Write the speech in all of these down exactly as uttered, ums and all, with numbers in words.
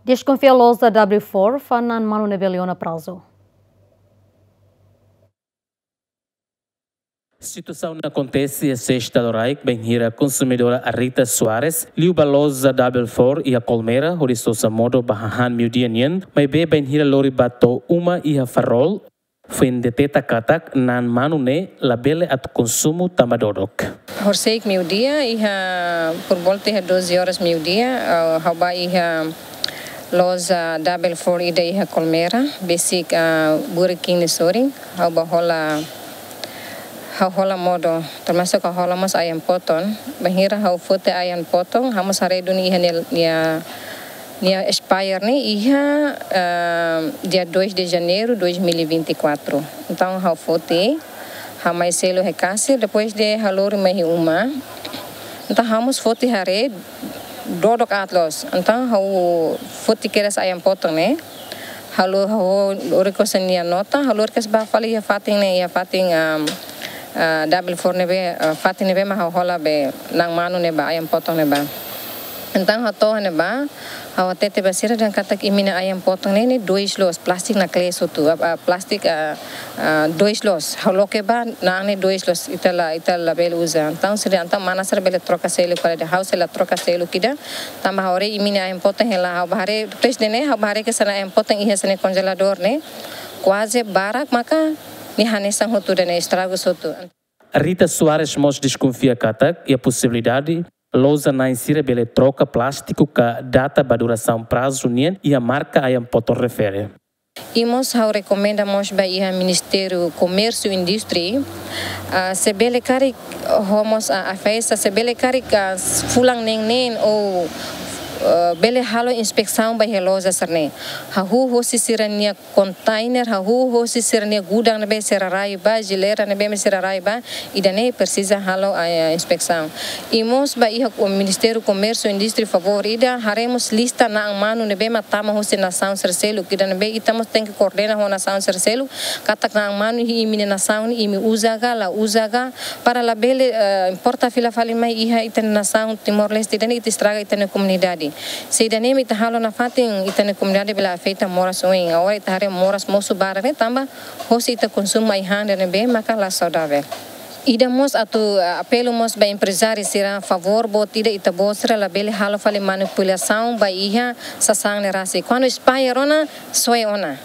Deskonfia loja W four, fó na'an manu ne'ebé lori ona prazu. Situasaun ne'e akontese iha Sesta loraik, bainhira konsumidora Arita Soares liu ba loja W four iha Colmera, hodi sosa modo ba hahán meiudia nian, maibé bainhira lori ba to'o uma iha Farol, foin deteta katak na'an manu ne'e labele atu konsumu tanba dodok. Horisehik meiudia, iha por volta iha doze horas meiudia, ah, ha'u bá iha loja W four ida iha Colmera, besik, ah, Burger King nia sorin, ha'u bá hola, ha'u hola modo, termasuk ha'u hola mós ayam potong, bainhira ha'u foti ayam potong, ha'u mós haree duni iha nia, nia, nia expire ne'e iha, ah, dia dois de janeiro dois mil e vinte e quatro. Entaun ha'u foti, ha'u mai selu iha kasir, depois de ha'u lori mai iha uma. Entaun ha'u mós foti haree, dodok aat loos. Entaun ha'u foti kedas ayam potong ne'e. Ha'u lo-, ha'u lori kedas nia nota, ha'u lori kedas bá fali iha fatin ne'e, iha fatin, um, ah, W four ne'ebé, ah, fatin ne'ebé mak ha'u hola be na'an manu ne'ebá, ayam potong ne'ebá. Entaun ha'u to'o iha ne'ebá, ha'u hatete ba sira dehan katak imi-nia ayam potong ne'e, ne'e dois loos, plástiku naklees hotu, ah, ah, plástiku, ah, ah, dois loos. Ha'u loke bá, na'an ne'e dois loos, ita la, ita labele uza. Entaun sira, entaun mana sira bele troka seluk, para de ha'u sei la troka seluk ida. Tanba ha'u haree imi-nia ayam potong hela, ha'u bá haree, depois de ne'e, ha'u bá haree kedas nia ayam potong iha sira-nia konjeladór ne'e, kuaze barak maka nia hanesan hotu ida-ne'e, estragu hotu. Rita Soares mós deskonfia katak iha posibilidade loja na'in sira bele troka plástiku ka data ba durasaun prazu nian iha marka ayam potong refere. I mós ha'u rekomenda mós ba iha Ministériu Komérsiu Indústria, ah, se bele karik, ho mós, ah, Afesa, se bele karik, ah, fulan neen-neen ou, ah, bele halo inspesaun ba iha loja sira-ne'e. Hahú hosi sira-nia kontainer, hahú hosi sira-nia gudang ne'ebé sira rai bá, jeleira ne'ebé sira rai bá, ida-ne'e presiza halo, ah, inspesaun. I mós ba iha Ministériu Komérsiu Indústria favór ida, haree mós lista na'an manu ne'ebé mak tama hosi nasaun sira seluk, ida ne'ebé ita mós tenke koordena ho nasaun sira seluk, katak na'an manu iha imi-nia nasaun, imi uza ka, la uza ka, para labele, eh, importa fila fali mai iha ita-nia nasaun Timor-Leste, ida-ne'e ita estraga ita-nia komunidade. Se ida-ne'e mak ita halo nafatin, ita-nia komunidade bele afeta moras oin. Agora ita haree moras mosu barak ne'e tanba hosi ita konsumu ai-han ida ne'ebé maka la saudavel. Ida mós atu, ah, apelu mós ba emprezáriu sira, favór boot ida, ita-boot sira labele halo fali manipulasaun ba iha sasán ne'e rasik. Kuandu expire ona, soe ona.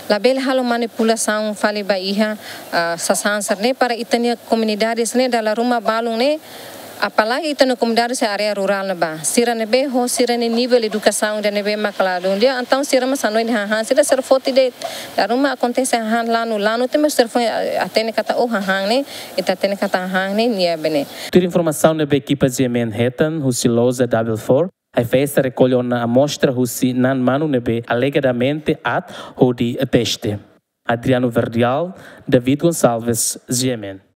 Labele halo manipulasaun fali ba iha, ah, sasán sira-ne'e para ita-nia komunidade sira-ne'e dala ruma balun ne'e, apalagi ita-nia komunidade iha área rurál ne'ebá. Sira ne'ebé ho sira-nia nivel edukasaun ida ne'ebé mak la dún di'ak, entaun sira mós hanoin dehan hahán sira, sira foti de'it. Dala ruma akontese hahán lanu, lanu tiha mós sira foin, ah, hatene katak, oh, hahán ne'e, ita hatene katak hahán ne'e nia bene. Tuir informasaun ne'ebé ekipa G M N hetan husi loja W four, Afesa rekolle ona amostra husi na'an manu ne'ebé alegadamente aat hodi teste. Adriano Verdial, David Gonçalves, G M N.